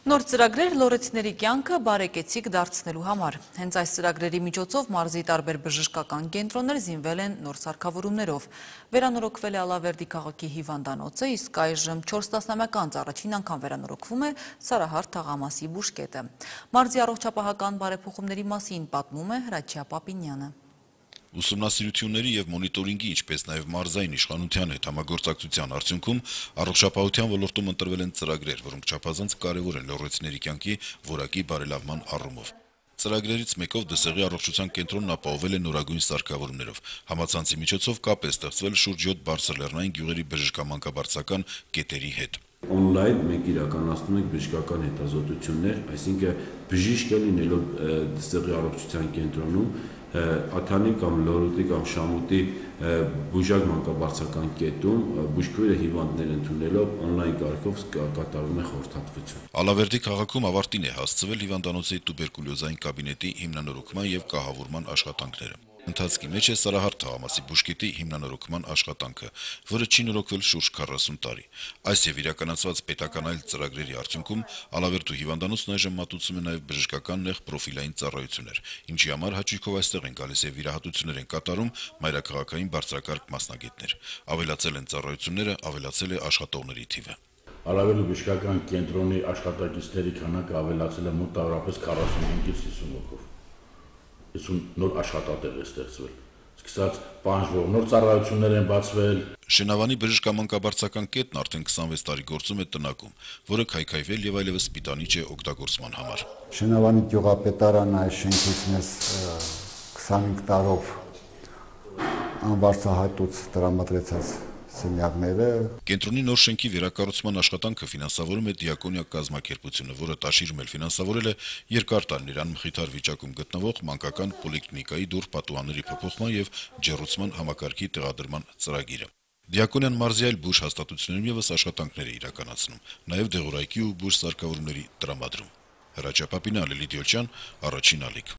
Նոր ծրագրեր լորեցիների կյանքը բարեկեցիկ դարձնելու համար։ Հենց այս ծրագրերի միջոցով մարզի տարբեր բժշկական կենտրոններ զինվել են նոր սարքավորումներով։ Վերանորոգվել է Ալավերդի քաղաքի հիվանդանոցը, իսկ այժմ 4 տասնամյակ անց առաջին անգամ վերանորոգվում է Սարահարթ թաղամասի բուժկետը։ Մարզի առողջապահական բարեփոխումների մասին պատմում է Հրաչյա Պապինյանը։ Ուսումնասիրությունների և մոնիտորինգի, ինչպես նաև մարզային իշխանության հետ համագործակցության արդյունքում առողջապահության ոլորտում ընտրվել են ծրագրեր, որոնք չափազանց կարևոր են լոռոցիների կյանքի որակի բարելավման առումով։ Ծրագրերից մեկով Դսեղի առողջության կենտրոնն ապահովել է նորագույն սարքավորումներով։ Համացանցի միջոցով կապ է ստեղծվել շուրջ 7 բարձրլեռնային գյուղերի բժշկամանկաբարձական կետերի հետ։ Օնլայն մենք իրականացնում ենք բժշկական հետազոտություններ, այսինքն բժիշկը լինելով Դսեղի առողջության կենտրոնում Աթանի կամ Լորոտի կամ Շամուտի բուժակ մանկաբարձական կետում բուժքույրը հիվանդներ ընդունելով օնլայն կարգով կատարում է խորհրդատվություն։ Ալավերդի քաղաքում ավարտին է հասցվել հիվանդանոցի տուբերկուլյոզային կաբինետի հիմնանորոգման և կահավորման աշխատանքները։ Ընթացքի մեջ է Սարահարթ թաղամասի բուժկետի հիմնանորոգման աշխատանքը, որը չի նորոգվել շուրջ 40 տարի։ Այս եւ իրականացված պետական այլ ծրագրերի արդյունքում Ալավերդու հիվանդանոցն այժմ մատուցում է նաեւ բժշկական նեղ պրոֆիլային ծառայություններ, ինչի համար հաճույքով այստեղ են գալիս եւ վիրահատություններ են կատարում մայրաքաղաքային բարձրակարգ մասնագետներ։ Ավելացել են ծառայությունները, ավելացել է աշխատողների թիվը։ Ալավերդու բժշկական կենտրոնի աշխատակիցների քանակը ավելացել է մոտավորապես 45-ից 50 հոգով։ 50 նոր աշխատատեղ է ստեղծվել։ Սկսած պահանջվող նոր ծառայություններ են բացվել։ Շենավանի բժշկամանկաբարձական կետն արդեն 26 տարի գործում է տնակում, որը քայքայվել եւ այլևս սպիտանիչ է օգտագործման համար։ Շենավանի գյուղապետարանը այս շենքից մեզ 25 տարով անվարձահատուց տրամադրեցած սենյակները։ Կենտրոնի նոր շենքի վերակառուցման աշխատանքը ֆինանսավորում է Դիակոնիա կազմակերպությունը, որը տաշիրում էլ ֆինանսավորել է երկար տարիներ անմխիթար վիճակում գտնվող մանկական պոլիկլինիկայի դուռ պատուհանների փոփոխման եւ ջեռուցման համակարգի տեղադրման ծրագիրը։ Դիակոնիան մարզի այլ բուժ հաստատություններում եւս աշխատանքներ է իրականացնում, նաեւ դեղորայքի ու բուժ սարքավորումների տրամադրում։ Հրաչյա Պապինյանը, Լիդիա Ջան, Առաջին ալիք։